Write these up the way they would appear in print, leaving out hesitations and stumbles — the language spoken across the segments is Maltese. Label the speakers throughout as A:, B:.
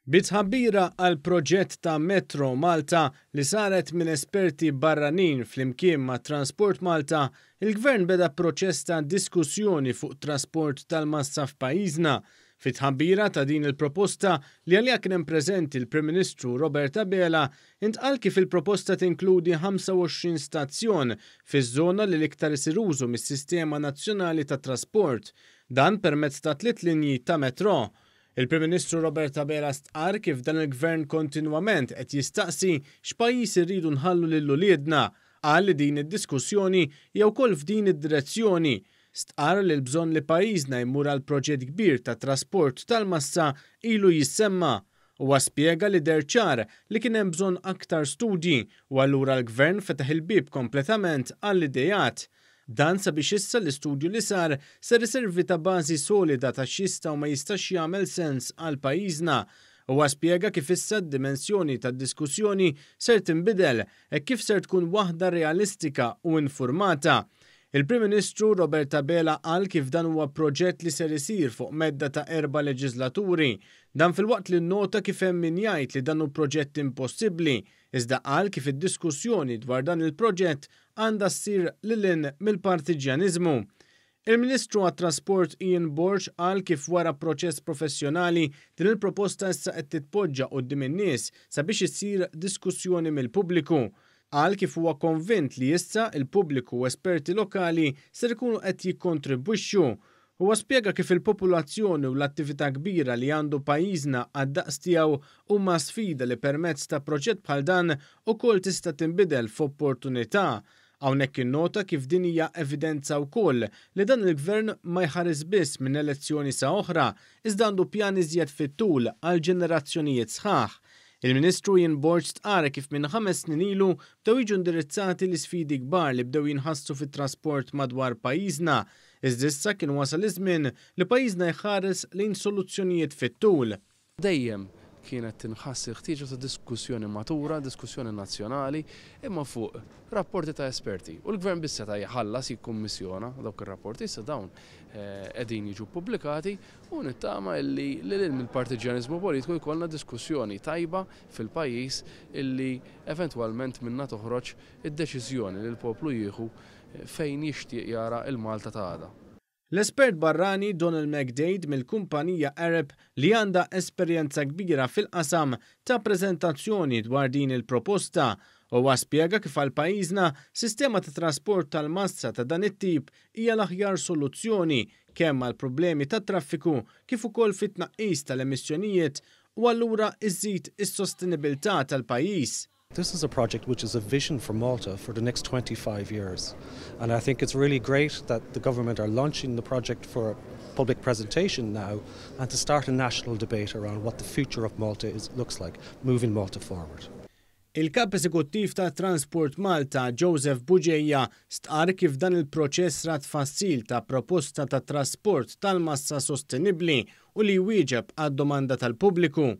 A: Bi tħabbira għal proġett ta' Metro Malta li saret minn esperti barranin flimkien ma' Transport Malta, il-Gvern beda proċess ta' diskussjoni fuq trasport tal-massa f'pajjiżna. Fi tħabbira ta' din il-proposta li għaliha kien hemm preżenti l-Prim Ministru Robert Abela, intqal kif il-proposta tinkludi 25 stazzjon fiż-żona li l-iktar isir użu mis-sistema nazzjonali ta' trasport. Dan permezz ta' tliet linji ta' metro. Il-Prim Ministru Robert Abela stqarr kif dan il-Gvern kontinwament qed jistaqsi x'pajjiż irridu nħallu lil uliedna. Qal li din id-diskussjoni hija wkoll f'din id-direzzjoni. Stqarr li l-bżonn li pajjiżna jmur għal proġett kbir ta' trasport tal-massa ilu jissemma. Huwa spjega li deher ċar li kien hemm bżonn aktar studji u allura l-Gvern fetaħ il-bieb kompletament għall-ideat. Dan sabiex issa l-istudju li sar ser iservi ta' bażi solida ta' x'jista' u ma jistax jagħmel sens għal pajjiżna. Huwa spjega kif issa d-dimensjoni tad-diskussjoni ser tinbidel hekk kif ser tkun waħda realistika u infurmata. Il-Prim Ministru Robert Abela qal kif dan huwa proġett li ser isir fuq medda ta' erba' leġislaturi. Dan filwaqt li nnota kif hemm min jgħid li dan hu proġett impossibbli, iżda qal kif id-diskussjoni dwar dan il-proġett għandha ssir lil hinn mill-partiġġjaniżmu. Il-Ministru għat-Trasport Ian Borg qal kif wara proċess professjonali din il-proposta issa qed titpoġġa quddiem in-nies sabiex issir diskussjoni mill-pubbliku. Qal kif huwa konvint li issa il-pubbliku u esperti lokali ser ikunu qed jikkontribwixxu. Huwa spjega kif il-popolazzjoni u l-attività kbira li għandu pajjiżna għad-daqs tiegħu huma sfida li permezz ta' proġett bħal dan ukoll tista' tinbidel f'opportunità. Hawnhekk innota kif din hija evidenza wkoll li dan il-Gvern ma jħares biss minn elezzjoni sa oħra, iżda għandu pjan iżjed fit-tul għal ġenerazzjonijiet sħaħ. Il-Ministru Ian Borg stqarr kif minn 5 snin ilu bdew jiġu indirizzati l-isfidi kbar li bdew jinħassu fit-trasport madwar pajjiżna. Iżda issa kien wasal iż-żmien li pajjiżna jħares lejn soluzzjonijiet fit-tul.
B: Dejjem kienet tinħass il-ħtieġa ta' diskussjoni matura, diskussjoni nazzjonali, imma fuq rapporti ta' esperti. U l-gvern biss seta' jħallas jikkummissjona dawk ir-rapporti, issa dawn qegħdin jiġu pubblikati u nittama illi lil mill-partiġjaniżmu politiku jkollna diskussjoni tajba fil-pajjiż illi eventwalment minna toħroġ id-deċiżjoni li l-poplu jieħu fejn jixtieq jara il-Malta ta' għada.
A: L-espert barrani Donald McDade mill-kumpanija Arup li għandha esperjenza kbira fil-qasam ta prezentazzjoni dwar din il-proposta u spjega kif għal pajjiżna sistema ta' trasport tal-massa ta' dan it-tip hija l-aħjar soluzzjoni kemm għal problemi ta' traffiku kif ukoll fit-tnaqqis tal-emissjonijiet u allura iżid is-sostenibilità tal-pajjiż.
C: This is a project which is a vision for Malta for the next 25 years. And I think it's really great that the government are launching the project for public presentation now and to start a national debate around what the future of Malta looks like, moving Malta forward.
A: Il-kap eżekuttiv ta' Transport Malta, Joseph Bugeja, stqar kif dan il-proċess ra tfassil ta' proposta ta' trasport tal-massa sostenibli u li jwieġeb għad-domanda tal-pubbliku.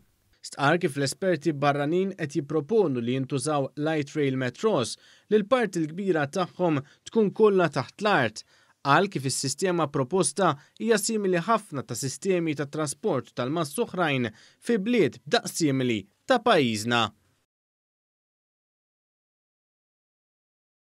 A: Stqar kif l-esperti barranin qed jipproponu li jintużaw light rail metros li l-parti l-kbira tagħhom tkun kollha taħt l-art. Qal kif is-sistema proposta hija simili ħafna ta' sistemi ta' trasport tal-massa oħrajn fi bliet b'daqs simili ta' pajjiżna.